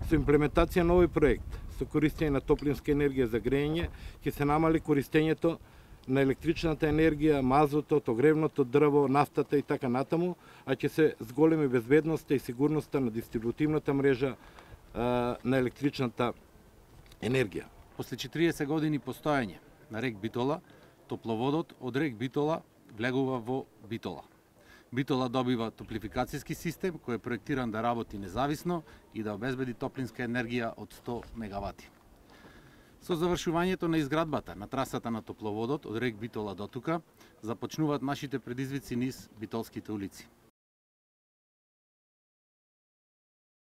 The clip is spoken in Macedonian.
Со имплементација на овој проект, со користење на топлинска енергија за грејење, ќе се намали користењето на електричната енергија, мазотот, огревното дрво, нафтата и така натаму, а ќе се зголеми безбедноста и сигурноста на дистрибутивната мрежа на електричната енергија. После 40 години постоење на рек Битола, топловодот од рек Битола влегува во Битола. Битола добива топлификацијски систем кој е проектиран да работи независно и да обезбеди топлинска енергија од 100 мегавати. Со завршувањето на изградбата на трасата на топловодот од рек Битола до тука, започнуваат нашите предизвици низ битолските улици.